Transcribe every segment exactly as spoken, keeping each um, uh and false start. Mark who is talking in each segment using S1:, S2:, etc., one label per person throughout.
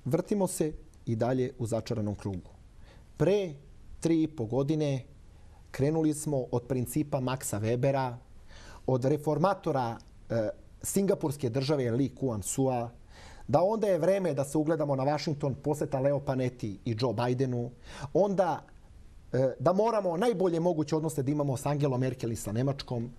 S1: vrtimo se i dalje u začaranom krugu. Pre tri i po godine krenuli smo od principa Maxa Webera, od reformatora e, singapurske države Lee Kuan Sua, da onda je vreme da se ugledamo na Washington, poseta Leo Panetti i Joe Bidenu, onda e, da moramo najbolje moguće odnose da imamo s Angelom Merkel i sa Nemačkom,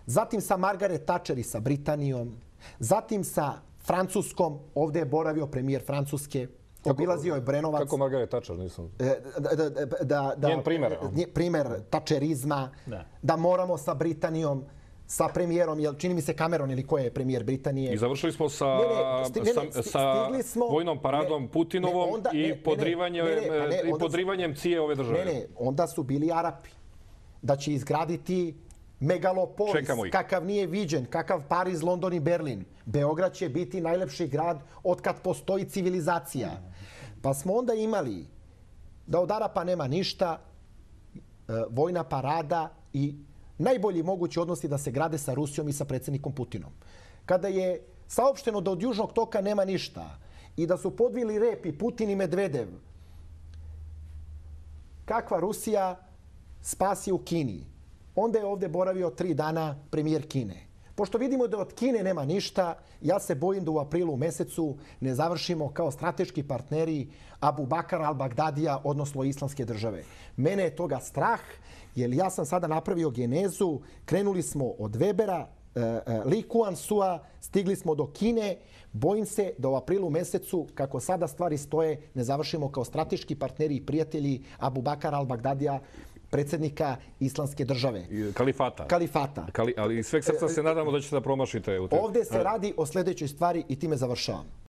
S1: zatim sa Margaret Thatcher i sa Britanijom, zatim sa Francuskom, ovdje je boravio premijer Francuske, obilazio je Brenovac.
S2: Kako Margaret Thatcher, nisam...
S1: Da, da, da, da,
S2: Njen primer.
S1: Primer Thatcherizma, da. da moramo sa Britanijom, sa premijerom, jel, čini mi se Cameron ili ko je premijer Britanije.
S2: I završili smo sa,
S1: ne, ne, sti, ne, ne,
S2: sa, sa
S1: smo,
S2: vojnom paradom
S1: ne,
S2: Putinovom
S1: ne, onda,
S2: i
S1: ne,
S2: podrivanjem,
S1: ne, ne, ne,
S2: i podrivanjem cije ove države.
S1: Ne, ne, onda su bili Arapi. Da će izgraditi megalopolis, kakav nije viđen, kakav Pariz, London i Berlin. Beograd će biti najlepši grad otkad postoji civilizacija. Pa smo onda imali da od Arapa nema ništa, vojna parada i najbolji mogući odnosi da se grade sa Rusijom i sa predsjednikom Putinom. Kada je saopšteno da od Južnog toka nema ništa i da su podvili rep i Putin i Medvedev, kakva Rusija, spas je u Kini. Onda je ovdje boravio tri dana premijer Kine. Pošto vidimo da od Kine nema ništa, ja se bojim da u aprilu mesecu ne završimo kao strateški partneri Abu Bakar al-Bagdadija, odnosno Islamske države. Mene je toga strah, jer ja sam sada napravio genezu, krenuli smo od Webera, Lee Kuan Sua, stigli smo do Kine, bojim se da u aprilu mesecu, kako sada stvari stoje, ne završimo kao strateški partneri i prijatelji Abu Bakar al-Bagdadija, predsjednika Islamske države.
S2: Kalifata.
S1: Kalifata.
S2: Kali, ali sveg srca se nadamo da ćete da promašite. U te...
S1: Ovdje se radi o sljedećoj stvari i time završavam.